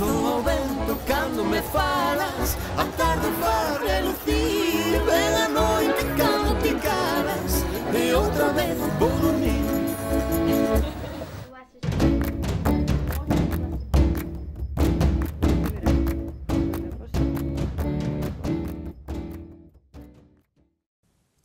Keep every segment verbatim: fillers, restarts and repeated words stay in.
abrazo ao vento cando me falas, a tarde faz relucir, ven a noite cando te calas, e outra vez vou dormir.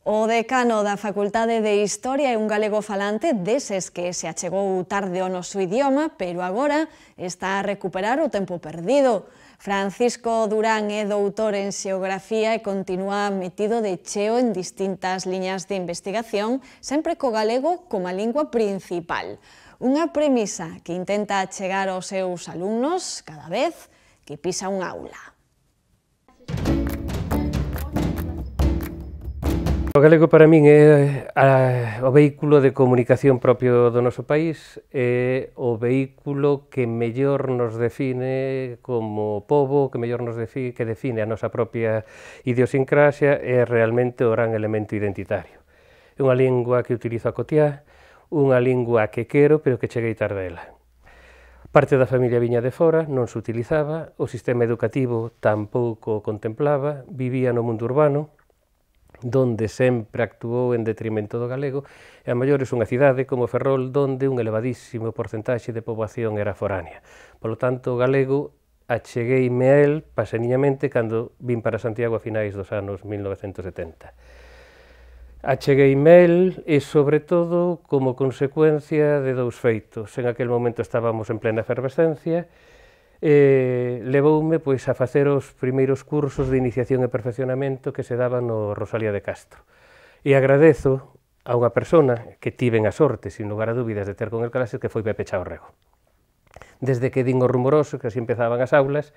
O decano da Facultade de Historia é un galego falante deses que se achegou tarde ao noso idioma, pero agora está a recuperar o tempo perdido. Francisco Durán é doutor en Xeografía e continúa metido de cheo en distintas liñas de investigación, sempre co galego como a lingua principal. Unha premisa que intenta achegar aos seus alumnos cada vez que pisa un aula. O galego para min é a, o vehículo de comunicación propio do noso país, é o vehículo que mellor nos define como pobo, que mellor nos define, que define a nosa propia idiosincrasia, é realmente o gran elemento identitario. É unha lingua que utilizo a cotiá, unha lingua que quero, pero que cheguei tarde a ela. Parte da familia viña de fora, non se utilizaba, o sistema educativo tampouco o contemplaba, vivía no mundo urbano, donde sempre actuou en detrimento do galego, e a maiores unha cidade como Ferrol, donde un elevadísimo porcentaxe de poboación era foránea. Polo tanto, o galego achegueime a el paseniñamente cando vin para Santiago a finais dos anos mil novecentos setenta. Achegueime a el e, sobre todo, como consecuencia de dous feitos. En aquel momento estábamos en plena efervescencia, e levoume pois a facer os primeiros cursos de iniciación e perfeccionamento que se daban no Rosalía de Castro. E agradezo a unha persona que tiven a sorte, sin lugar a dúbidas, de ter con el clases, que foi Pepe Chaorrego. Desde que din o rumoroso, que así empezaban as aulas,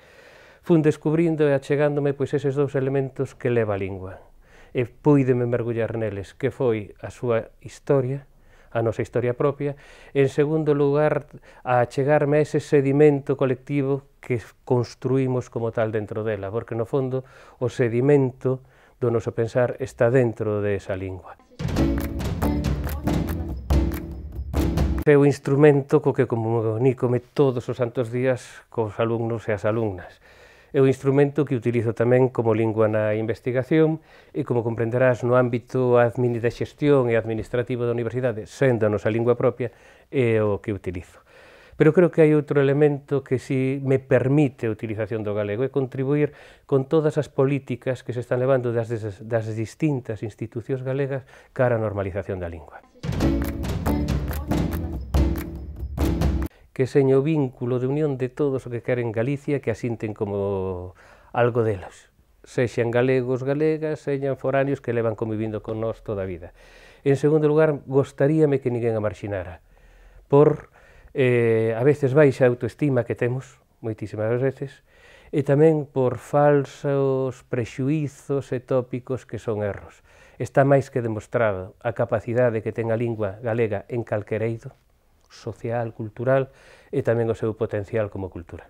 fun descubrindo e achegándome pois eses dous elementos que leva a lingua. E puídeme mergullar neles, que foi a súa historia, a nosa historia propia, en segundo lugar, a achegarme a ese sedimento colectivo que construímos como tal dentro dela, porque no fondo o sedimento do noso pensar está dentro de esa lingua. É o instrumento co que comunícome todos os santos días cos alumnos e as alumnas. É o instrumento que utilizo tamén como lingua na investigación e, como comprenderás, no ámbito de xestión e administrativo da universidade, sendo a nosa lingua propia, é o que utilizo. Pero creo que hai outro elemento que si me permite a utilización do galego, é contribuir con todas as políticas que se están levando das, das distintas institucións galegas cara á normalización da lingua. Que seña o vínculo de unión de todos os que queren Galicia, que asinten como algo delas, sexan galegos, galegas, sexan foráneos que levan convivindo con nós toda a vida. En segundo lugar, gostaríame que ninguén a marxinara, por eh, a veces baixa autoestima que temos, moitísimas veces, e tamén por falsos prexuízos e tópicos que son erros. Está máis que demostrado a capacidade que ten a lingua galega en calquer eido, social, cultural, e tamén o seu potencial como cultura.